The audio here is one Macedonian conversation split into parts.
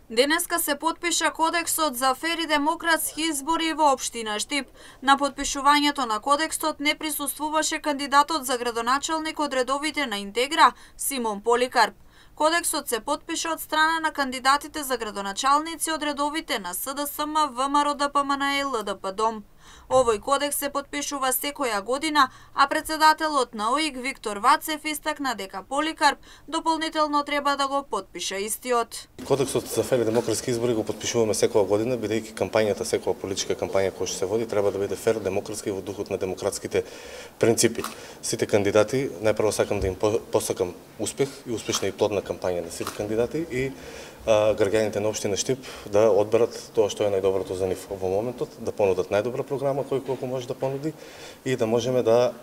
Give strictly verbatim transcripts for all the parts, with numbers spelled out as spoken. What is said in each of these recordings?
Денеска се потпиша Кодексот за фер и демократски избори во општина Штип. На потпишувањето на Кодексот не присуствуваше кандидатот за градоначалник од редовите на Интегра, Симон Поликарп. Кодексот се потпиша од страна на кандидатите за градоначалници од редовите на СДСМ, ВМРО, ДПМН и ЛДП Дом. Овој кодекс се потпишува секоја година, а председателот на ОИК Виктор Вацев истакна дека Поликарп дополнително треба да го потпише истиот. Кодексот за фер и демократски избори го потпишуваме секоја година, бидејќи кампањата, секоја политичка кампања која што се води, треба да биде фер, демократски и во духот на демократските принципи. Сите кандидати, најпрво сакам да им посакам успех и успешна и плодна кампања на сите кандидати и а, граѓаните на општина Штип да одберат тоа што е најдоброто за нив во моментот, да понудат најдобра програма кој колку може да понуди и да можеме да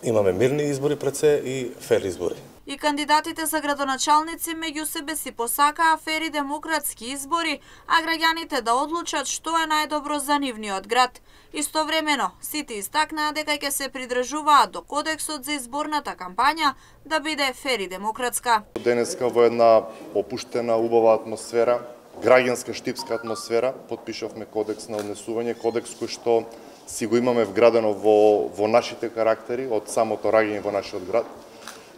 имаме мирни избори пред се и фер избори. И кандидатите за градоначалници меѓу себе си посакаа фер и демократски избори, а граѓаните да одлучат што е најдобро за нивниот град. Истовремено, сите истакнаа дека ќе се придржуваат до Кодексот за изборната кампања да биде фер и демократска. Денеска во една опуштена, убава атмосфера, граѓанска штипска атмосфера, потпишавме Кодекс на однесување, Кодекс кој што си го имаме вградено во, во нашите карактери од самото раѓање во нашиот град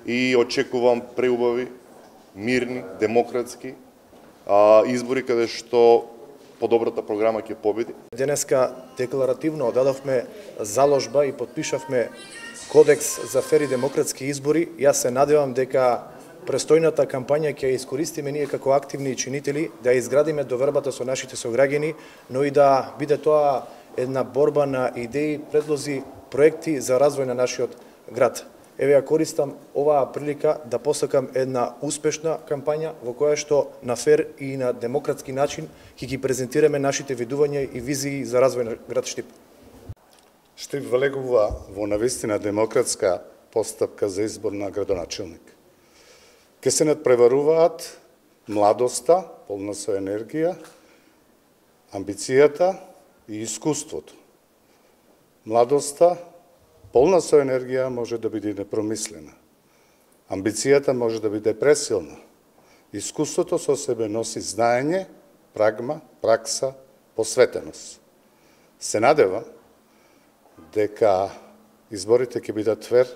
и очекувам преубави, мирни, демократски а, избори каде што подобрата програма ќе победи. Денеска декларативно одадовме заложба и потпишавме Кодекс за фер и демократски избори. Јас се надевам дека престојната кампања ќе ја искористиме ние како активни чинители да изградиме довербата со нашите сограѓани, но и да биде тоа една борба на идеи, предлози, проекти за развој на нашиот град. Еве ја користам оваа прилика да посакам една успешна кампања во која што на фер и на демократски начин ќе ги презентираме нашите видувања и визии за развој на град Штип. Штип влегува во навистина демократска постапка за избор на градоначалник. Ке се надпреваруваат младоста, полна со енергија, амбицијата и искуството. Младоста, полна со енергија, може да биде непромислена. Амбицијата може да биде пресилна. Искуството со себе носи знаење, прагма, пракса, посветеност. Се надевам дека изборите ќе бидат фер,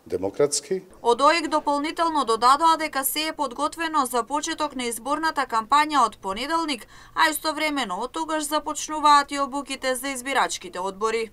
демократски. Од ОИК дополнително додадоа дека се е подготвено за почеток на изборната кампања од понеделник, а истовремено од тогаш започнуваат и обуките за избирачките одбори.